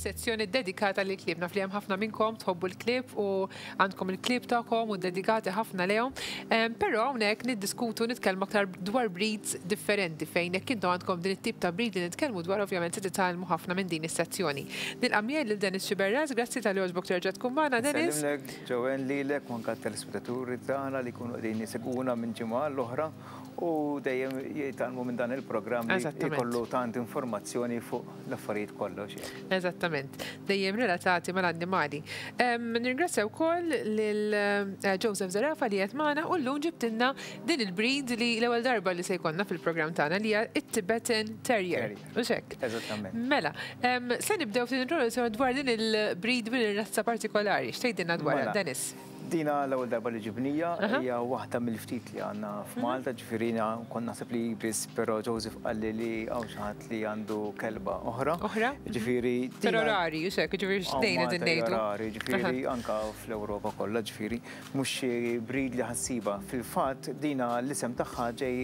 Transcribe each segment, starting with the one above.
Fis-sezzjoni ddedikata lill-klieb. Naf li hemm ħafna minnkom tħobbu l-klieb u għandkom il-klieb tagħkom u ddedikati ħafna lejhom. Però hawnhekk niddiskutu nitkellmu aktar dwar breeds differenti fejn jekk intom għandkom din it-tip ta' breed li nitkellmu dwar ovvjament se titgħallmu ħafna minn din is-sezzjoni. Nilqa' miegħi lil Dennis Sciberras, grazzi talli għoġbok terġa' tkun magħna Dennis. Insellimlek Joanne lilek u anke t-telespettaturi tagħna li jkunu qegħdin jsegwuna minn ġimgħa għall-oħra. U dejjem jitgħallmu minn dan il-programm li jkollu tant informazzjoni fuq l-affarijiet kollha u x'hekk. Eżattament. Dejjem relatati mal-annimali. Nirringrazzja wkoll lil Joseph Zerafa li qiegħed magħna u llum ġibtilna din il-breed li l-ewwel darba li se jkollna fil-programm tagħna li hija t-Tibetan Terrier. Hux hekk? Eżattament. Mela, se nibdew ftit introduzzjoni dwar din il-breed din ir-razza partikolari. X'tgħidilna dwarha, Dennis? Dina l-ewwel darba li ġibnija, hija waħda mill-ftit li għandna f'Malta, ġifieri jiena kont naħseb li biss, però Joseph qalli li hawn xi ħadd li għandu kelba oħra. Oħra? Ġifieri. Però rari, hux hekk, ġifieri x'tnejn qegħdin ngħidu. Rari, ġifieri anke fl-Ewropa kollha, ġifieri mhux xi breed li ħa ssibha. Fil-fatt dina l-isem tagħha ġej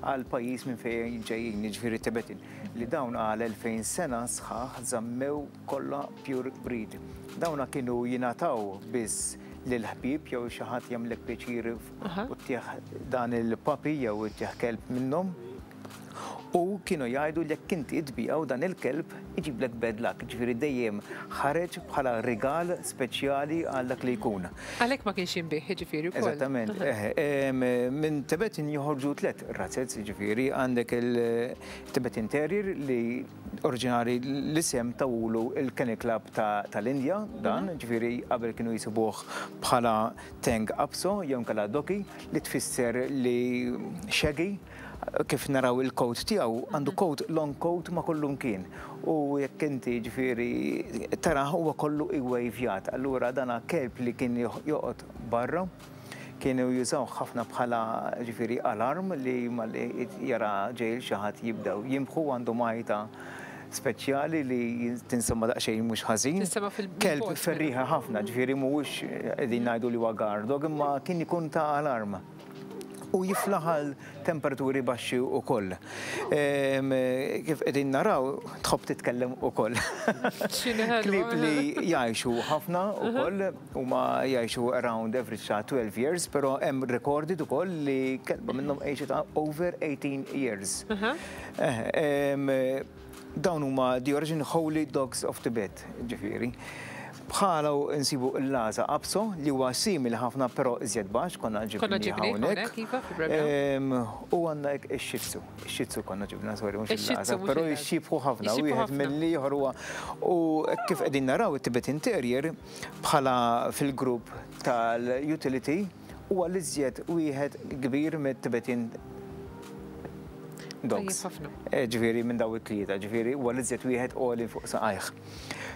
għall-pajjiż minn fejn ġejjin, jiġifieri Tibetin, li dawn għal 2000 sena sħaħ żammew kollha pure breed. Dawna kienu jingħataw biss lill-ħbieb jew xi ħadd jagħmlek pjaċir u ttih dan il-puppy jew ittih kelb minnhom. U kienu jgħidu li jekk inti tbigħu dan il-kelb iġiblek bad luck, ġifieri dejjem ħareġ bħala rigal speċjali għal dak li jkun. Għalhekk ma kienx jinbiegħ jiġifieri wkoll. Eżattament, eħe. Minn Tibetan joħorġu tlett razez, jiġifieri għandek il-Tibetan Terrier li Oriġinali l-isem tawulu il-Kennel Club tal-Indja dan, ġifieri qabel kienu jisibuh bħala Teng Apso jew inkella Doki li tfisser li shaggy, kif naraw il-coat tiegħu għandu coat long coat ma' kullumkien u jekk inti ġifieri tarah huwa kollu iwejvjat, allura dana kelb li kien joqgħod barra. Kienu jużawh ħafna bħala ġifieri alarm li malli jara ġej 'il xi ħadd jibdew jinbħu għandhom għajta speċjali li tinsema' daqsxejn mhux ħażin. Tinsema' fil Kelb ferrieħi ħafna, ġifieri mhuwiex qegħdin ngħidu li huwa guard dog imma kien ikun ta' alarm. U jiflaħ għal temperaturi baxxi wkoll. Kif qegħdin naraw tħobb titkellem ukoll. Klieb li jgħixu ħafna wkoll. Huma jgħixu around average ta' 12 years, però hemm recorded ukoll li kelba minnhom għexet over 18 years. Dawn huma the origin holy dogs of Tibet, ġifieri. Bħalu nsibu l-Lhasa Apso li huwa simili ħafna però iżjed baxx, konna ġibnieh hawnhekk. Iva, fil-programm. U għandna ix-Shih Tzu. Ix-Shih Tzu konna ġibna, sorry, mhux il-Lhasa, però jixxiebħu ħafna wieħed mill-ieħor huwa. U kif qegħdin naraw it-Tibetan Terrier bħala fil-grupp tal-utility huwa l-iżjed wieħed kbir mit-Tibetan dogs. Ġifieri minn dawn it-tlieta, ġifieri huwa l-iżjed wieħed għoli fuq saqajh.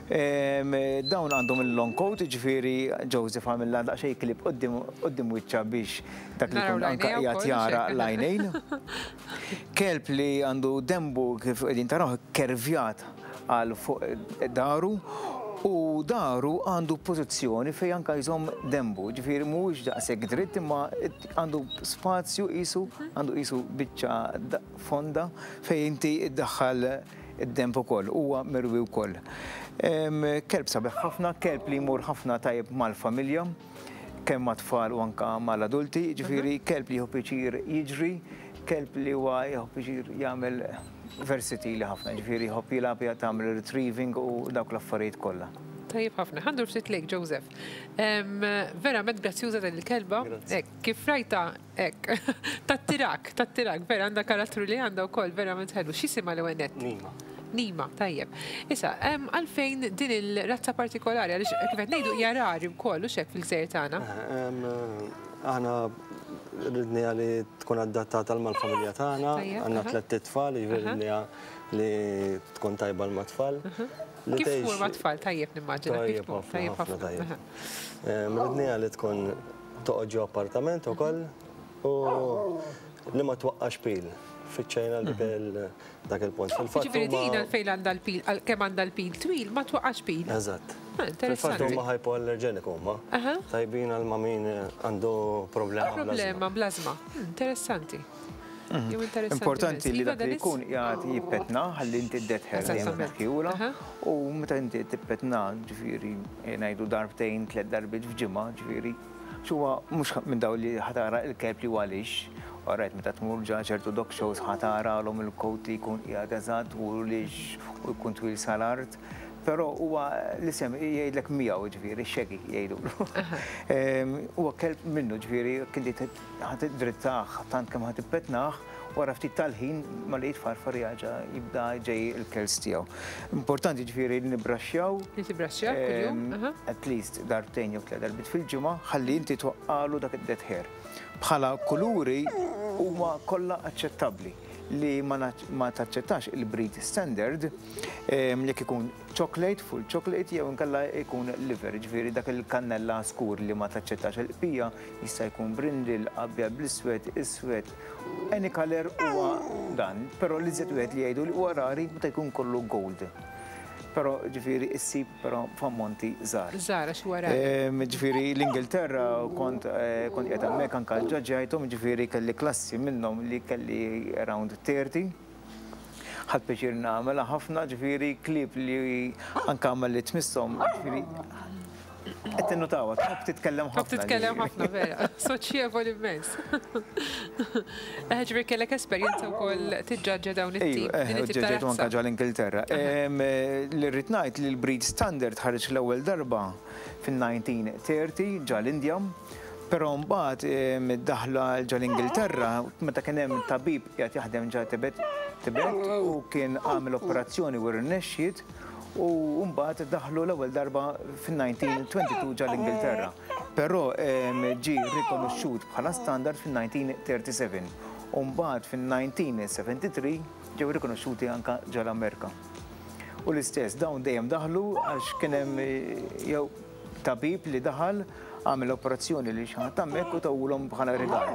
Dawn għandhom il-long coat, ġifieri Joseph għamilha daqsxejn klieb quddiem wiċċha biex dak li jkun anke qiegħed jara l-għajnejn. Kelb li għandu denbu kif qegħdin tarawh ikkervjat għal fuq daru u daru għandu pożizzjoni fejn anke jżomm denbu, ġifieri mhuwiex daqshekk dritt imma għandu spazju qisu għandu qisu biċċa fonda fejn inti ddaħħal id-denb ukoll, huwa mirwi wkoll. Kelb sabiħ ħafna, kelb li jmur ħafna tajjeb mal-familja, kemm mat-tfal u anke mal-adulti, ġifieri kelb li jieħu pjaċir jiġri, kelb li huwa jieħu pjaċir jagħmel versatili ħafna, ġifieri jħobb jilgħab, tagħmel retrieving u dawk l-affarijiet kollha. Tajjeb ħafna. Ħa ndur ftit lejk Joseph. Verament grazzjuża din il-kelba. Hekk, kif rajtha hekk. Tattirak, tattirak, vera għandha karattru li għandha wkoll verament ħelu. X'jisimha l-ewwel nett? Nima. Nima, tajjeb. Issa, għalfejn din il-razza partikolari, għaliex kif qed ngħidu hija rari wkoll hux hekk fil-gżejjer tagħna. Aħna ridniha li tkun adattata mal-familja tagħna, għandna tlett itfal, jiġifieri ridniha li tkun tajba għal mat-tfal. Kif tmur mat-tfal tajjeb nimmaġina. Tajjeb ħafna, tajjeb. Ridniha li tkun toqgħod ġo appartament ukoll u li ma twaqqax pil. Fittxejna dik dak il-punt. Fil-fatt. Ġifieri din għalfejn għandha l-pil, kemm għandha l-pil twil ma twaqqax pil. Eżatt. Fil-fatt huma hypoallergenic huma. Tajbin għal ma' min għandu problema bl-ażma. Problema bl-ażma. Interessanti. Jew interessanti. Importanti li Iva, dak li Dennis? jkun qiegħed jippetna ħalli inti d-dead hair dejjem tneħħiehulha u meta inti tippetna ġifieri ngħidu darbtejn, tlett darbiet f'ġimgħa ġifieri huwa mhux minn dawn li ħa tara l-kelb li huwa lixx. Alright, meta tmur ġa ċertu dog shows ħa taralhom il-coat li jkun qiegħed eżatt u lixx u jkun twil sal-art. Però huwa l-isem jgħidlek miegħu ġifieri shaggy jgħidulu. Huwa kelb minnu ġifieri jekk inti ħa tiddrittah tant kemm ħa tippetnah, wara ftit tal-ħin malli jitfarfar jerġa' jibda ġej il-curls tiegħu. Importanti ġifieri li nibbraxxjaw. Li tibbraxxjaw kuljum. At least darbtejn jew tliet darbiet fil-ġimgħa ħalli inti twaqqalu dak id-dead hair. Bħala kuluri huma kollha aċċettabbli li ma taċċettax il-breed standard jekk ikun chocolate, full chocolate jew inkella jkun liver, ġifieri dak il-kannella skur li ma taċċettax. Il-bqija jista' jkun brindle, abjad bl-iswed, iswed, any color huwa dan, però li żed wieħed li jgħidu li huwa rari meta jkun kollu gold. Però ġifieri issib però f'ammonti żgħar. Żgħar għax huwa rari. Ġifieri l-Ingilterra kont kont qiegħed hemmhekk anke ġġaġġajthom, ġifieri kelli klassi minnhom li kelli around 30. Ħadt pjaċir nagħmilha ħafna, ġifieri klieb li anke għamel li tmisshom, ġifieri qed tinnotawha, tħobb titkellem ħafna. Tħobb titkellem ħafna vera, soċjevoli immens. Ġifieri kellek esperjenza wkoll tiġġaġġa dawn it-tip. Ejju, ġġaġġajtu anke ġo l-Ingilterra. Li rrid ngħid li l-breed standard ħareġ l-ewwel darba fin-1930 ġo l-Indja, però mbagħad daħla ġo l-Ingilterra meta kien hemm tabib qiegħed jaħdem ġo Tibet Tibet u kien għamel operazzjoni u rnexxiet u mbagħad daħlu l-ewwel darba fin-1922 ġo l-Ingilterra. Però ġie rikonoxxut bħala standard fin-1937 u mbagħad fin-1973 ġew rikonoxxuti anke ġo l-Amerika. U l-istess dawn dejjem daħlu għax kien hemm jew tabib li daħal għamel operazzjoni li xi ħadd hemmhekk u tawulhom bħala rigal.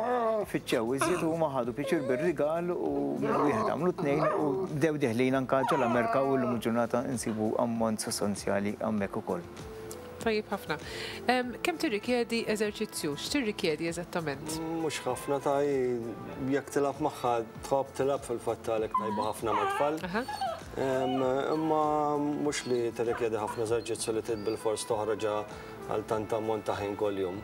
Fittxew iżjed u huma ħadu pjaċir bir-rigal u minn wieħed għamlu tnejn u bdew deħlin anke ġol-Amerika u llum il-ġurnata nsibu ammont sostanzjali hemmhekk ukoll. Tajjeb ħafna. Kemm tirrikjedi eżerċizzju? X'tirrikjedi eżattament? Mhux ħafna ta' jekk tilgħab magħha tħobb tilgħab fil-fatt għalhekk tajba ħafna mat-tfal. Imma mhux li tirrikjedi ħafna eżerċizzju li trid bilfors toħroġha għal tant ammont ta' ħin kuljum.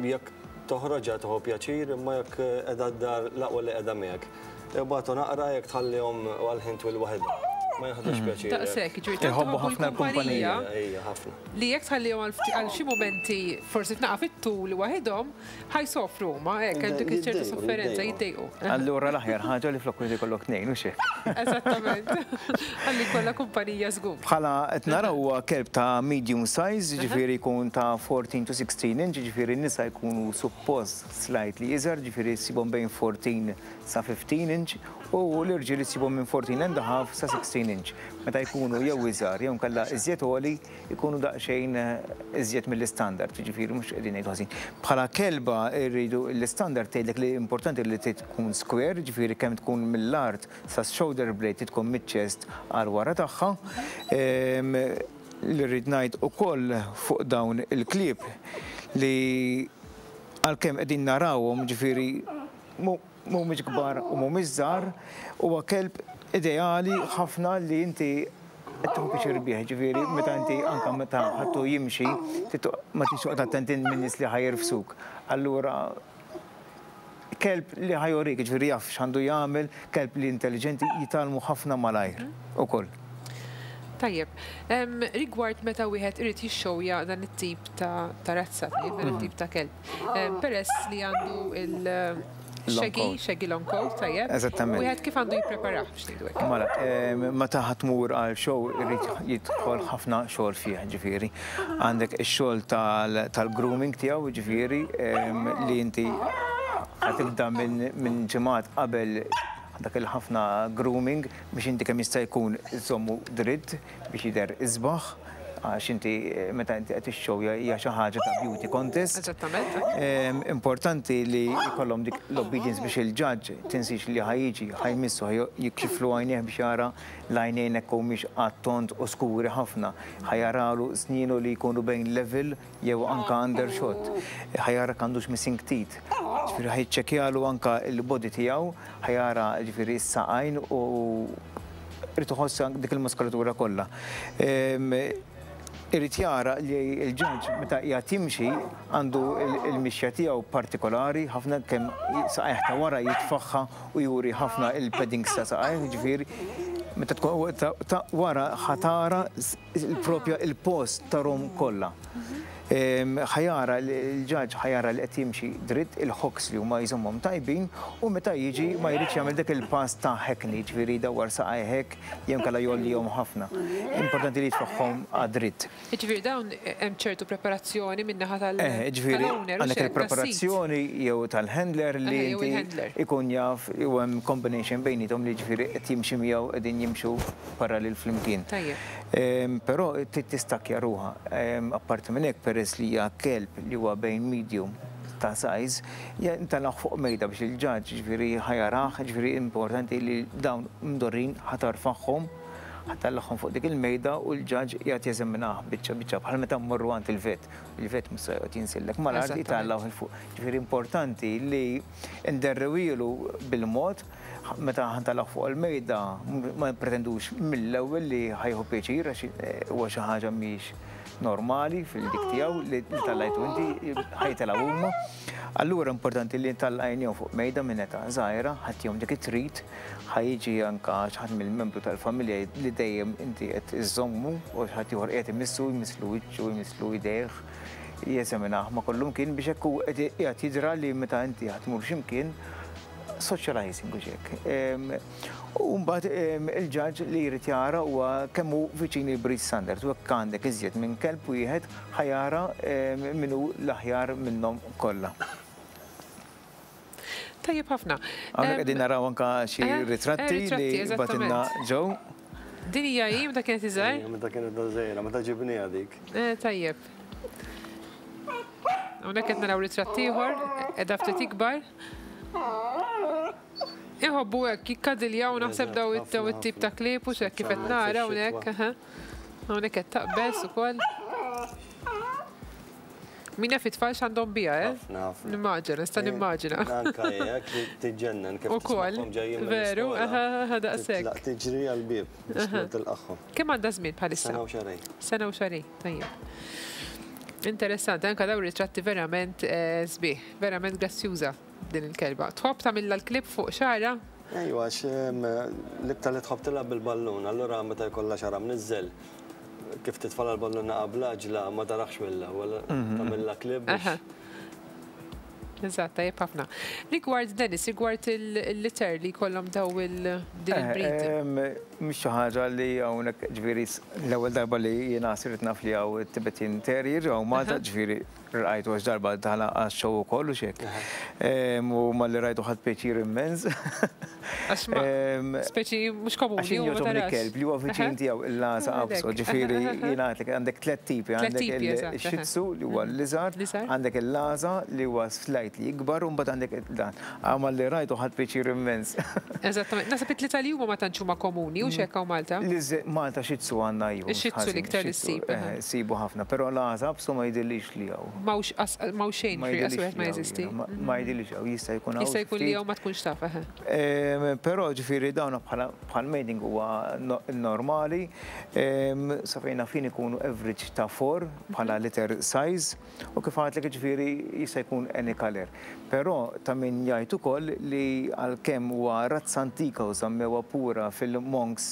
Jekk toħroġha tieħu pjaċir, imma jekk qiegħda d-dar l-aqwa li qiegħda miegħek. Ibatu naqra jekk tħallihom għal ħin twil waħedhom. Ma jaħdux pjaċir. Daqshekk, jiġifieri tant Iħobbu iħobbu ħafna l-kumpanija l-kumpanija. Ejja, ħafna. li jekk tħallihom għal xi mumenti forsi tnaqa' fit-tul waħedhom, ħa jsofru huma, hekk hemm dik ċertu Jiddejqu, sofferenza, jiddejqu. jiddejqu. Allura l-aħjar ħaġa li flok wieħed ikollok tnejn, hux hekk? Eżattament. Ħalli jkollha kumpanija żgur. Bħala qed naraw huwa kelb ta' medium size, jiġifieri jkun ta' 14 to 16 inch, jiġifieri n-nisa jkunu suppost slightly iżgħar, jiġifieri ssibhom bejn 14 sa 15 inch u l-irġiel issibhom minn 14 and a half sa 16 inch. Meta jkunu jew iżgħar jew inkella iżjed għoli jkunu daqsxejn iżjed mill-istandard, jiġifieri mhux qegħdin ngħidu ħażin. Bħala kelba rridu l-istandard tgħidlek li importanti li trid tkun square, jiġifieri kemm tkun mill-art sa shoulder blade trid tkun miċ-chest għal wara tagħha. Li rrid ngħid ukoll fuq dawn il-klieb li għalkemm qegħdin narawhom ġifieri mhumiex kbar u mhumiex żgħar, huwa kelb ideali ħafna li inti qed tieħu pjaċir bih, ġifieri meta inti anke meta ħadtu jimxi, ma tridx toqgħod attent minn nies li ħa jirfsuk. Allura kelb li ħa jurik, ġifieri jaf x'għandu jagħmel, kelb li intelligenti jitgħallmu ħafna malajr ukoll. Tajjeb, rigward meta wieħed irid jixxowja dan it-tip ta' razza, dan it-tip ta' kelb. Peress li għandu il- Shaggy, shaggy long coat, tajjeb. Eżattament. Wieħed kif għandu jippreparah biex ngħidu hekk? Mela, meta ħa tmur għal show irid jidħol ħafna xogħol fih, ġifieri. Għandek ix-xogħol tal-grooming tiegħu, ġifieri, li inti ħa tibda minn ġimgħat qabel dak il-ħafna grooming biex inti kemm jista' jkun iżommu dritt biex jidher isbaħ. Għax inti meta inti qed ixxowja hija xi ħaġa ta' beauty contest. Eżattament. Importanti li jkollhom dik l-obedience biex il-judge tinsix li ħa jiġi, ħa jmissu, ħa jikxiflu għajnejh biex jara l-għajnejn hekk humiex għat-tond u skuri ħafna. Ħa jaralu snienu li jkunu bejn level jew anka undershot. Ħa jara għandux missing teeth. Ġifieri ħa jiċċekkjalu anka l-body tiegħu, ħa jara ġifieri s-saqajn u irid iħoss dik il-muskolatura kollha. Irid jara li l-judge meta qiegħed jimxi għandu il-mixja tiegħu partikolari ħafna, kemm saqajh ta' wara jitfaħħa u juri ħafna il-paddings ta' saqajh, ġifieri meta tkun ta' wara ħa tara il-propja il-post tarhom kollha. Ħa jara l-judge, ħa jara li qed jimxi dritt, il-hocks li huma jżommhom tajbin, u meta jiġi ma jridx jagħmel dak il-pass ta' hackney, ġifieri dawar saqajh hekk jew inkella jgħollihom ħafna. Importanti li jitfaħħhom għad-dritt. Ġifieri dawn hemm ċertu preparazzjoni min-naħa tal Ġifieri tal-owner u għandek xek, tas-sid. Il-preparazzjoni jew tal-handler li Jew inti il-handler. Ikun jaf u hemm combination bejniethom li ġifieri qed jimxi miegħu, qegħdin jimxu parallel flimkien. Però trid tistakja ruha. Apparti minn hekk, peress li hija kelb li huwa bejn medium ta' size, ntellgħu fuq mejda biex il-judge ġifieri ħa jarah, ġifieri importanti li dawn mdorrin ħa tarfagħhom, ħa ttellagħhom fuq dik il-mejda u l-judge qiegħed jeżaminah biċċa biċċa, bħal meta mmorru għand il-vet. Il-vet mhux se joqgħod jinsillek mal-art, jitellgħu 'il fuq. Ġifieri importanti li nderrewilu bil-mod meta ħa ntellgħu fuq il-mejda, ma pretendux mill-ewwel li ħa jieħu pjaċir, għax huwa xi ħaġa mhix normali fil-dik tiegħu li tellajtu inti, ħa jitilgħu huma. Allura importanti li ntellgħinihom fuq mejda minn età żgħira, ħa ttihom dik it-treat, ħa jiġi anka xi ħadd mill-membru tal-familja li dejjem inti qed iżommu u xi ħadd ieħor qiegħed imissu, jmisslu wiċċu, jmisslu idejh, jeżaminah ma' kollum kien biex hekk hu qiegħed jidra li meta inti ħa tmur x'imkien socializing u hekk. U mbagħad il-judge li jrid jara huwa kemm hu viċin il-breed standard, u hekk għandek iżjed minn kelb wieħed, ħa jara min hu l-aħjar minnhom kollha. Tajjeb ħafna. Hawnhekk qegħdin naraw anka xi ritratti ritratti, li bagħtilna ġew. Din hija hi meta kienet iżgħar? Ejja, meta kienet żgħira, meta ġibniha dik. Tajjeb. Hawnhekk qed naraw ritratt ieħor, qiegħda ftit ikbar. Iħobbu hekk jikkadiljaw naħseb daw it-tip ta' klieb u x'hekk kif qed nara hawnhekk. Hawnhekk qed taqbeż ukoll. Min jaf it-tfal x'għandhom biha, eh? Ħafna, ħafna. Nimmaġina, nista' nimmaġina. Anka hekk li tiġġennen kif Ukoll, tismagħhom ġejjin veru, mill-iskola. aha, daqshekk. Titlaq tiġri għall-bieb biex tmur tilqagħhom. Kemm għandha żmien bħalissa? Sena u xahrejn. Sena u xahrejn, tajjeb. Interessanti, anka daw ritratti verament sbieħ, verament grazzjuża din il-kelba. Tħobb tagħmilha l-klieb fuq xagħarha? Ejwa, għax l-iktar li tħobb tilgħab bil-ballun, allura meta jkollha xagħarha mniżżel, kif titfala l-ballun qabla ġla ma tarax mill-ewwel, tagħmilha klieb biex. Eżatt, tajjeb ħafna. Rigward Dennis, rigward il-litter li jkollhom daw din il-breed. Mhix xi ħaġa li hawnhekk, ġifieri l-ewwel darba li jiena sirt naf li hawn Tibetan Terrier hawn Malta, ġifieri rajtu għax darba daħla għax-show ukoll u xek. U malli rajtu ħadt pjaċir immens. Għax ma speċi mhux komuni. Għax u ma jogħġobni tarax. kelb li huwa viċin tiegħu il-Lhasa Apso, ġifieri jiena għedtlek għandek tliet tipi, Tliet għandek tipi, eżatt, aha. il-Shih Tzu li huwa l-iżgħar, L-iżgħar. għandek il-Lhasa li huwa slightly ikbar u mbagħad għandek dan. Għamal li rajtu ħadt pjaċir immens. Eżattament. Naħseb it-tlieta li huma ma tantx huma komuni u x'hekk hawn Malta. Malta Shih Tzu għandna iva, Ix-Shih Tzu ħażin, l-iktar li Shih Tzu, ssib, aha. sibu ħafna, però Lhasa Apso ma jidhirlix li hawn. M'hawnx xejn Ma fi jidhirlix wieħed ma li hawn, jeżisti. jiena, ma jidhirlix hawn, jista' jkun hawn Jista' jkun li ftit. hawn ma tkunx taf, aha. Però ġifieri dawn bħal mating huwa normali. Sa fejn fin ikunu average ta' 4 bħala litter size u kif għedtlek ġifieri jista' jkun any color. Però ta' min jgħid ukoll li għalkemm huwa razza antika u żammewha pura fil-monks,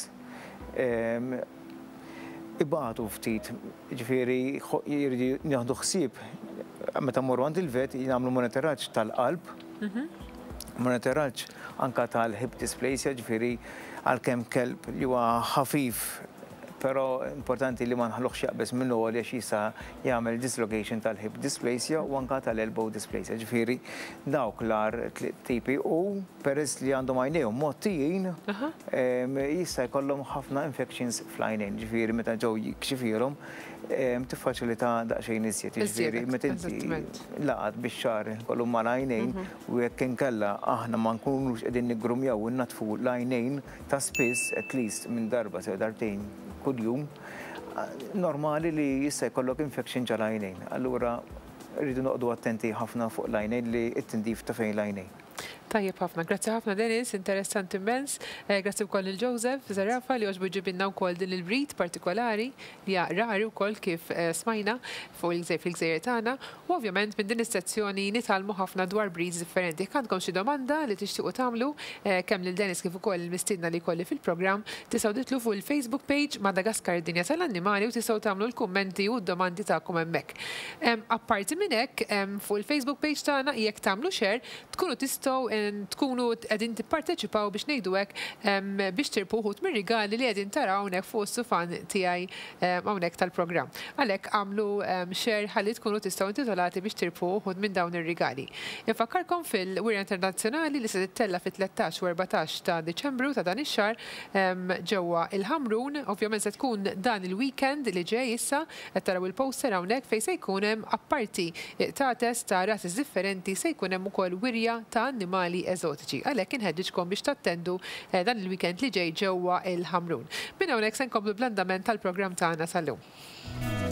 ibatu ftit, ġifieri jridu nieħdu ħsieb meta mmorru għand il-vet jagħmlu monitoraġġ tal-qalb, monitoraġġ anka tal-hip dysplasia, ġifieri għalkemm kelb li huwa ħafif. Però importanti li ma nħalluhx jaqbeż minn għoli għax jista' jagħmel dislocation tal-hip dysplasia u anka tal-elbow dysplasia. Ġifieri dawk l-agħar tipi u peress li għandhom għajnejhom mgħottijin jista' jkollhom ħafna infections fl-għajnejn. Ġifieri meta ġew jikxifilhom tiffaċilita daqsxejn iżjed. Ġifieri meta inti laqat bix-xagħar kollu mal-għajnejn u jekk inkella aħna ma nkunux qegħdin niggrumjaw u nnadfu l-għajnejn ta' spiss, at least minn darba sew darbtejn kuljum, normali li jista' jkollok infection ġol-għajnejn. Allura rridu noqogħdu attenti ħafna fuq l-għajnejn li t-tindif ta' fejn l-għajnejn. Tajjeb ħafna. Grazzi ħafna, Dennis, interessanti immens. Grazzi wkoll lil Joseph Zerafa li għoġbu ġibilna wkoll din il-breed partikolari li hija rari wkoll kif smajna fuq il-gżejjer fil-gżejjer tagħna. U ovvjament minn din is-sezzjoni nitgħallmu ħafna dwar breeds differenti. Jekk għandkom xi domanda li tixtiequ tagħmlu kemm lil Dennis kif ukoll il-mistiedna li jkolli fil-programm, tistgħu tidħlu fuq il-Facebook page Madagascar id-Dinja tal-Annimali u tistgħu tagħmlu l-kummenti u d-domandi tagħkom hemmhekk. Apparti minn hekk, fuq il-Facebook page tagħna jekk tagħmlu share tkunu tistgħu tkunu qegħdin tipparteċipaw biex ngħidu hekk biex tirbħu wħud mir-rigali li qegħdin taraw hawnhekk fuq is-sufan tiegħi hawnhekk tal-programm. Għalhekk għamlu share ħalli tkunu tistgħu intitolati biex tirbħu wħud minn dawn ir-rigali. Infakkarkom fil-Wirja Internazzjonali li se tittella fit-13 u 14 ta' Diċembru ta' dan ix-xahar ġewwa il-Ħamrun. Ovvjament se tkun dan il-weekend li ġej issa, qed taraw il-poster hawnhekk fejn se jkun hemm apparti qtates ta' rases differenti se jkun hemm ukoll wirja ta' annimali eżotiċi. Għalhekk inħeġġiġkom biex tattendu dan il-weekend li ġej ġewwa il-Ħamrun. Minn hawnhekk se nkomplu bl-andament tal-programm tagħna sal-lum.